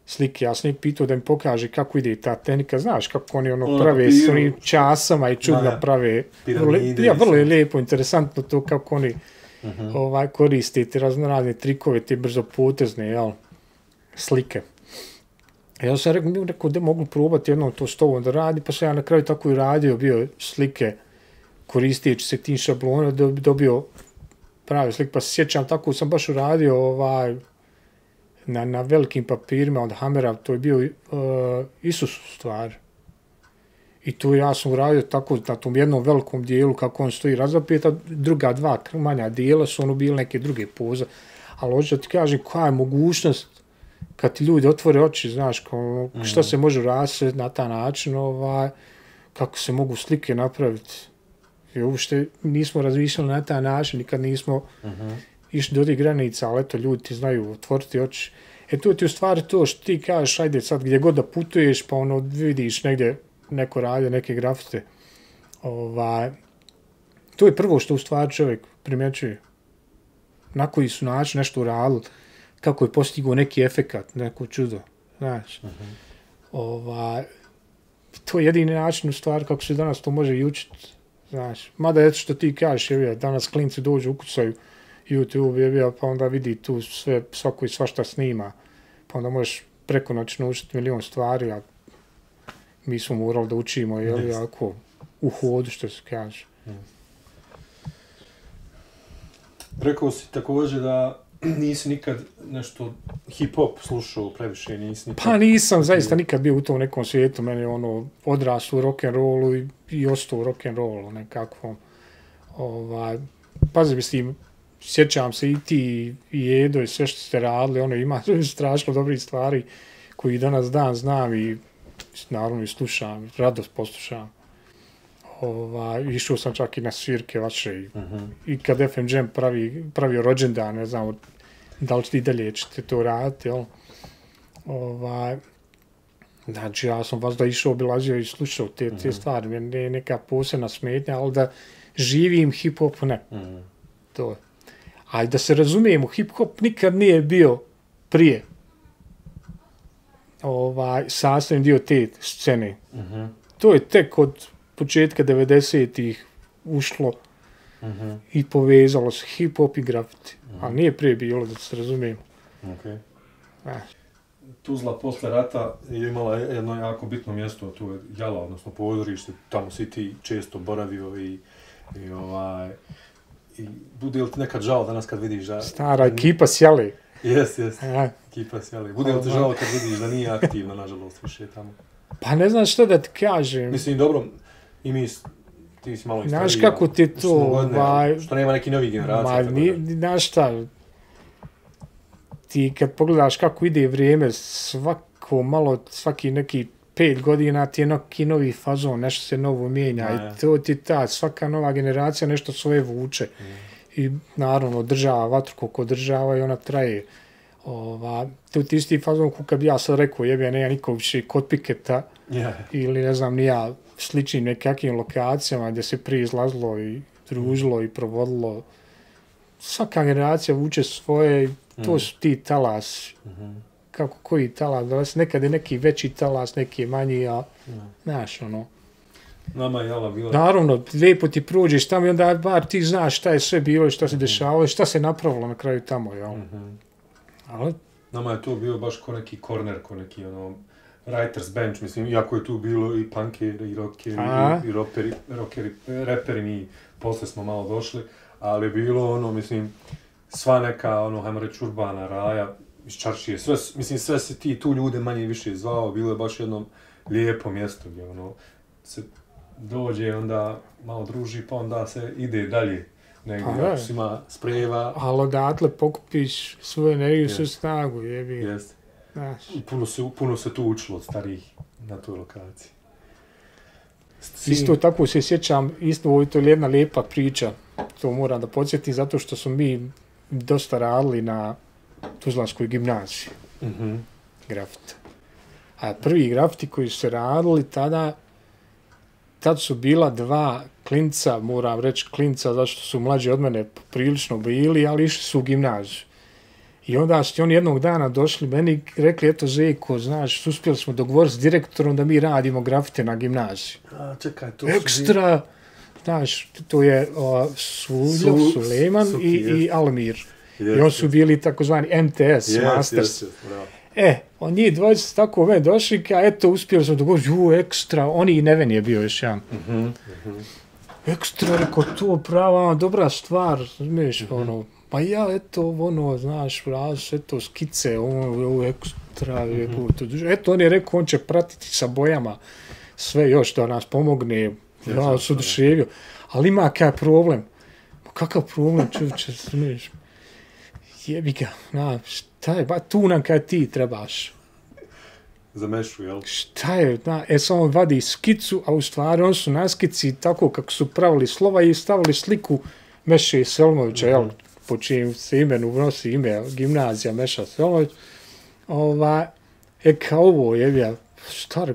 slike. Ja sam njeg pitao da mi pokaže kako ide ta tehnika. Znaš kako oni ono prave s onim časama i čudno ja, prave. Piramide, ja, vrlo je lijepo, interesantno to kako oni uh-huh. ovaj, koriste te raznorazne trikove, te brzopotezne, jel, slike. Ja sam rekao, rekao da mogu probati jednom to s tobom da radi, pa sam ja na kraju tako i radio, bio slike koristeći se tim šablona, da bi dobio prave slike. Pa se sjećam, tako sam baš uradio ovaj, na, na velikim papirima od Hamera, to je bio uh, Isus stvar. I tu ja sam uradio tako na tom jednom velikom dijelu kako on stoji razapet, a druga dva manja dijela su ono bili neke druge poze. Ali hoću da ti kažem koja je mogućnost kad ti ljudi otvore oči, znaš, kao, šta se može rasvjeti na taj način, ovaj, kako se mogu slike napraviti. I uopšte nismo razmišljali na taj način, nikad nismo uh-huh. išli do tih granica, ali eto, ljudi ti znaju otvoriti oči. E tu ti u stvari to što ti kažeš, ajde sad gdje god da putuješ, pa ono vidiš negdje neko radi, neke grafite. Ovaj, to je prvo što u stvari čovjek primjećuje. Na koji su način nešto uradili, kako je postigao neki efekat, neko čudo, znaš. Uh-huh. Ovaj, to je jedini način u stvari kako se danas to može i učiti, znaš. Mada eto što ti kažeš, je, danas klinci dođu, ukucaju YouTube, je, pa onda vidi tu sve, svako i svašta snima, pa onda možeš preko noći naučiti milion stvari, a mi smo morali da učimo, je li, ako u hodu, što se kaže. Mm. Rekao si također da nisi nikad nešto hip-hop slušao previše, nisi nikad... Pa nisam zaista nikad bio u tom nekom svijetu, meni je ono odrastao u rock'n'rollu i, i ostao u rock'n'rollu nekakvom. Ovaj, pazi, mislim, sjećam se i ti i Edo i sve što ste radili, ono ima strašno dobrih stvari koji danas dan znam i naravno i slušam, radost poslušam. Ova, išao sam čak i na svirke vaše i, uh-huh. i kad F M Jam pravi, pravio rođendan, ne znam da li i dalje ćete to raditi, jel? Ovaj, znači ja sam vas da išao, obilazio i slušao te, te uh-huh. stvari, meni je neka posebna smetnja, ali da živim hip-hop ne. Uh-huh. To je. A da se razumijemo, hip-hop nikad nije bio prije ovaj, sastavni dio te scene. Uh-huh. To je tek od početka devedesetih ušlo uh-huh. i povezalo se hip-hop i grafiti. Uh-huh. Ali nije prije bilo, da se razumijemo. Okay. Tuzla posle rata je imala jedno jako bitno mjesto, tu je Jala, odnosno pozorište, tamo si ti često boravio i, i ovaj... I bude li ti nekad žao danas kad vidiš da... Stara ekipa s Jale. Jes, jes, ekipa s Jale. Bude li ti žao kad vidiš da nije aktivna, nažalost, više tamo? Pa ne znam što da ti kažem. Mislim, dobro, i mi, ti si malo i stariji. Znaš kako ti to... Godine, ba... Što nema neki novi generacija. Ma, ni, znaš šta, ti kad pogledaš kako ide vrijeme, svako malo, svaki neki pet godina ti je neki novi fazon, nešto se novo mijenja. A, i to ti ta, svaka nova generacija nešto svoje vuče. Mm. I naravno, održava vatru koliko održava i ona traje. Ova, to ti isti fazon kako bi ja sad rekao, jebe, nema nikog više kod Piketa yeah. ili ne znam, nija sličnim nekakvim lokacijama gdje se prije izlazilo i družilo mm. i provodilo. Svaka generacija vuče svoje, to mm. su ti talas. Mm-hmm. Kako koji talas, nekad je neki veći talas, neki je manji, a mm. znaš, ono. Nama je Jala bila... Naravno, lijepo ti prođeš tamo i onda bar ti znaš šta je sve bilo i šta se dešavalo i šta se napravilo na kraju tamo, jel? Mm-hmm. Ali... Nama je to bio baš ko neki korner, ko neki ono, writer's bench, mislim, iako je tu bilo i punkeri, i rockeri, i, i roperi, rockeri, reperi, mi posle smo malo došli, ali je bilo ono, mislim, sva neka, ono, hajmo reći, urbana raja, iz Čaršije, sve, mislim, sve se ti tu ljude manje i više zvao, bilo je baš jedno lijepo mjesto gdje, ono, se dođe, onda malo druži, pa onda se ide dalje. Negdje, pa, ako si ima sprejeva. Ali odatle pokupiš svoju energiju, svoju snagu, jebi. Jeste. Puno se, puno se tu učilo od starih na toj lokaciji. Sin... Isto tako se sjećam, isto ovo je to jedna lijepa priča, to moram da podsjetim, zato što smo mi dosta radili na Tuzlanskoj gimnaziji. Mm-hmm. Grafita. A prvi grafiti koji su se radili tada, tad su bila dva klinca, moram reći klinca, zašto su mlađi od mene prilično bili, ali išli su u gimnaziju. I onda su oni jednog dana došli meni i rekli, eto Zeko, znaš, uspjeli smo dogovoriti s direktorom da mi radimo grafite na gimnaziji. A, čekaj, to Ekstra, su... znaš, to je uh, Suljo, Su... Sulejman Suki, i, i Almir. Yes, I oni su bili takozvani M T S, yes, Masters. Yes, yes, e, on njih dvojica tako me došli, ka eto, uspjeli smo dogovoriti, ju, Ekstra, oni i Neven je bio još jedan. Mm-hmm, mm-hmm. Ekstra, rekao, to prava, dobra stvar, znaš, mm-hmm. ono, pa ja, eto, ono, znaš, raz, eto, skice, ono, Ekstra, mm-hmm. eto, on je rekao, on će pratiti sa bojama sve još da nas pomogne, ja, ja se oduševio, ali ima kaj problem, kakav problem, čovječe, znaš, jebi ga, na, šta je, ba, tu nam kaj ti trebaš. Za mešu, jel? Šta je, na, e, samo vadi skicu, a u stvari on su na skici tako kako su pravili slova i stavili sliku Meše Selmovića, mm-hmm. jel, po čijem se imenu nosi ime, gimnazija Meša Selmović, ova, e, kao ovo, jebi ga, šta,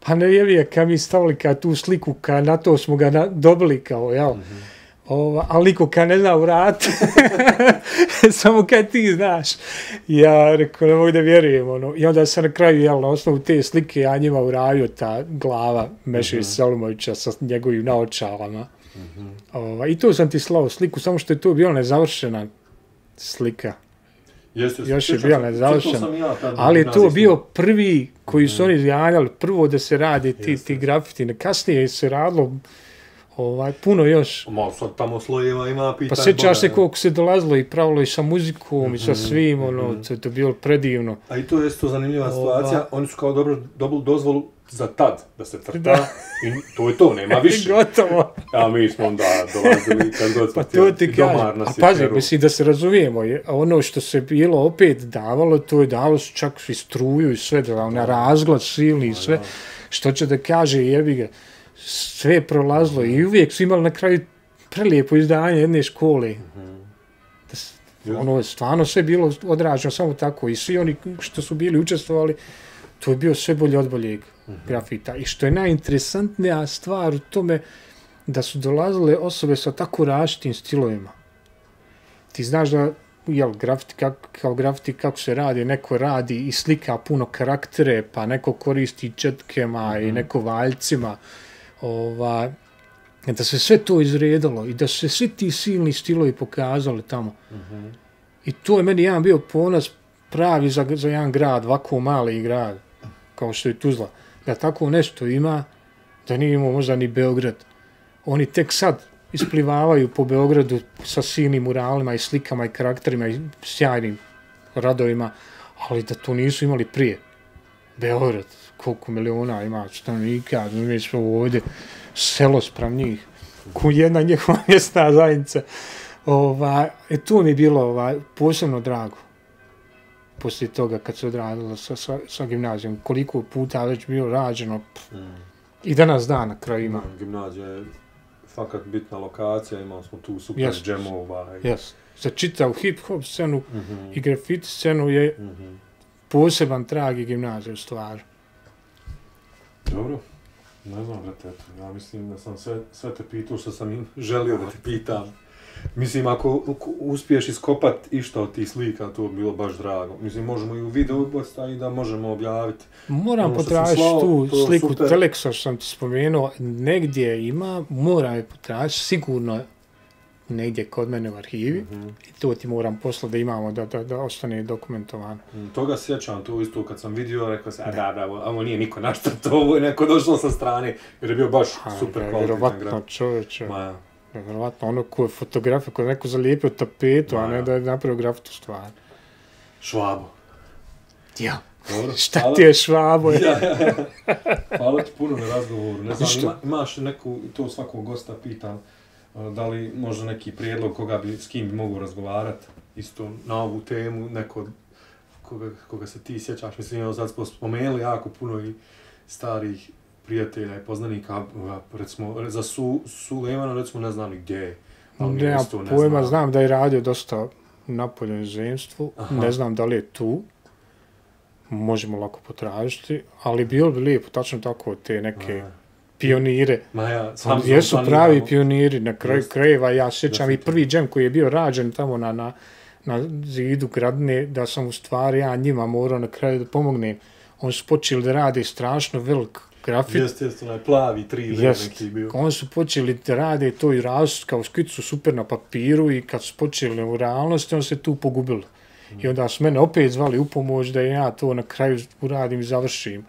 pa ne jebi ga, kad mi stavili kao tu sliku, kad na to smo ga na, dobili, kao, jel, mm-hmm. Ova, ali niko kad ne zna vrat, samo kad ti znaš. Ja rekao, ne mogu da vjerujem. Ono. I onda sam na kraju, jel, na osnovu te slike, ja njima uradio ta glava Meše mm-hmm. Selimovića sa njegovim naočalama. Mm-hmm. Ova, I to sam ti slao sliku, samo što je to bila nezavršena slika. Jeste, još je bila nezavršena. Ja, ali je to bio prvi koji su mm-hmm. oni izjanjali, prvo da se radi ti, ti grafiti. Kasnije se radilo ovaj, puno još. Malo sad tamo slojeva ima pitanje. Pa sjećaš se koliko se dolazilo i pravilo i sa muzikom mm-hmm, i sa svim, ono, mm-hmm. to je bilo predivno. A i to je isto zanimljiva situacija, Ova... oni su kao dobro dobili dozvolu za tad da se crta da. I to je to, nema više. Gotovo. A mi smo onda dolazili kad god smo pa to ti kažem. A pazi, mislim da se razumijemo, je, ono što se bilo opet davalo, to je dalo su čak i struju i sve, da ona razglad silni i sve, što će da kaže jebi ga, sve je prolazilo i uvijek su imali na kraju prelijepo izdanje jedne škole. Mm-hmm. Da, ono je stvarno sve bilo odraženo samo tako i svi oni što su bili učestvovali, to je bio sve bolje od boljeg mm-hmm. grafita. I što je najinteresantnija stvar u tome da su dolazile osobe sa tako različitim stilovima. Ti znaš da, jel, grafiti, kako, kao grafiti kako se radi, neko radi i slika puno karaktere, pa neko koristi četkema mm-hmm. i neko valjcima, ova, da se sve to izredalo i da su se svi ti silni stilovi pokazali tamo. Mm-hmm. I to je meni jedan bio ponos pravi za, za jedan grad, ovako mali grad, kao što je Tuzla, da tako nešto ima, da nije imao možda ni Beograd. Oni tek sad isplivavaju po Beogradu sa silnim muralima i slikama i karakterima i sjajnim radovima, ali da to nisu imali prije. Beograd, koliko miliona ima stanovnika, mi smo ovdje, selo sprem njih, ko jedna njihova mjesna zajednica. Ova, e, to mi je bilo ova, posebno drago. Poslije toga kad se odradilo sa, sa, sa gimnazijom, koliko puta već bilo rađeno pff, mm. i danas dan na kraju ima. Mm, gimnazija je fakat bitna lokacija, imali smo tu super yes. džemova. I... Yes. Za čitavu hip-hop scenu mm-hmm. i grafiti scenu je mm-hmm. poseban trag i gimnazija u stvari. Dobro, ne znam, brate, ja mislim da sam sve, sve te pitao što sam im želio da te pitam. Mislim, ako uspiješ iskopat išta od tih slika, to bi bilo baš drago. Mislim, možemo i u videu postaviti da možemo objaviti. Moram potražiti tu sliku Teleksa što sam ti spomenuo. Negdje ima, moram je potražiti, sigurno negdje kod mene u arhivi. Mm-hmm. I to ti moram poslati da imamo, da, da, da ostane dokumentovano. Mm, toga sjećam, to isto kad sam vidio, rekao sam, a da, da, ovo nije niko naštrto, ovo je neko došlo sa strane, jer je bio baš a, super kvalitetan grad. Vjerovatno čovječe. Ma, vjerovatno, ono ko je fotografija, ko je neko zalijepio tapetu, Ma, a ne da je napravio grafitu stvar. Švabo. Ja. Dobro, šta hvala. Ti je Švabo? Ja, ja, ja. Hvala ti puno na razgovoru. Ne znam, ima, imaš neku, to svakog gosta pitam, da li možda neki prijedlog koga bi, s kim bi mogu razgovarati isto na ovu temu, neko koga, koga se ti sjećaš. Mislim, evo sad smo spomenuli jako puno i starih prijatelja i poznanika, recimo, za Su, Sulejmana, recimo, ne znam ni gdje je. Ne, ne pojma, znam. znam da je radio dosta napolju inozemstvu, ne znam da li je tu, možemo lako potražiti, ali bilo bi lijepo, tačno tako, te neke Aha. pionire. Ma ja, sam jesu pravi imamo. Pioniri, na kraju krajeva, ja sjećam i prvi džem koji je bio rađen tamo na, na, na zidu Gradine, da sam u stvari ja njima morao na kraju da pomognem. Oni su počeli da rade strašno velik grafit. Jeste, jeste, onaj plavi tri D neki bio. Oni su počeli da rade to i različit kao skicu super na papiru i kad su počeli u realnosti, on se tu pogubili. Mm. I onda su mene opet zvali u pomoć da ja to na kraju uradim i završim.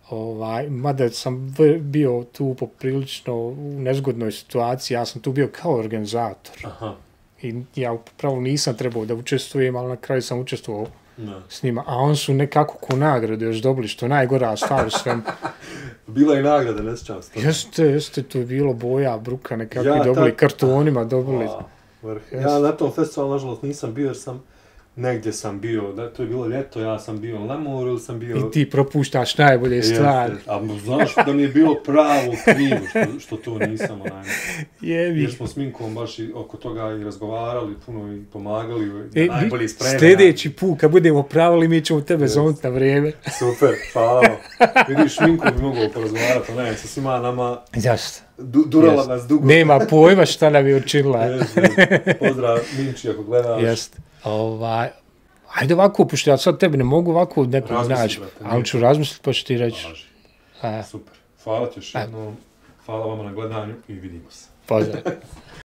Ovaj, mada sam bio tu poprilično u nezgodnoj situaciji, ja sam tu bio kao organizator. Aha. I ja upravo nisam trebao da učestvujem, ali na kraju sam učestvovao no. s njima. A on su nekako ko nagrade još dobili, što je najgora stvar u svem. Bila i nagrada, ne sjećam se. Jeste, jeste, to je bilo boja, bruka, nekakvi ja, dobili, ta... kartonima dobili. Wow. Ja na tom festivalu, nažalost, nisam bio jer sam negdje sam bio, da, to je bilo ljeto, ja sam bio na moru ili sam bio... I ti propuštaš najbolje stvari. A znaš da mi je bilo pravo krivo što, što to nisam onaj. Jebi. Jer smo s Minkom baš i oko toga i razgovarali, puno i pomagali, e, najbolji spremena. Sljedeći put, kad budemo pravili, mi ćemo tebe zovnuti na vrijeme. Super, hvala. Vidiš, Minko bi mogao porazgovarati, ali ne, sa svima nama... Jasno. Du, durala yes. nas dugo. Nema pojma šta nam je učinila. Yes, yes. Pozdrav Minči ako gledaš. Jeste. Ovaj, ajde ovako, pošto ja sad tebi ne mogu ovako nekog naći, ali ću razmisliti pa ću ti reći. Super. Hvala ti još jednom. Hvala vama na gledanju i vidimo se. Pozdrav.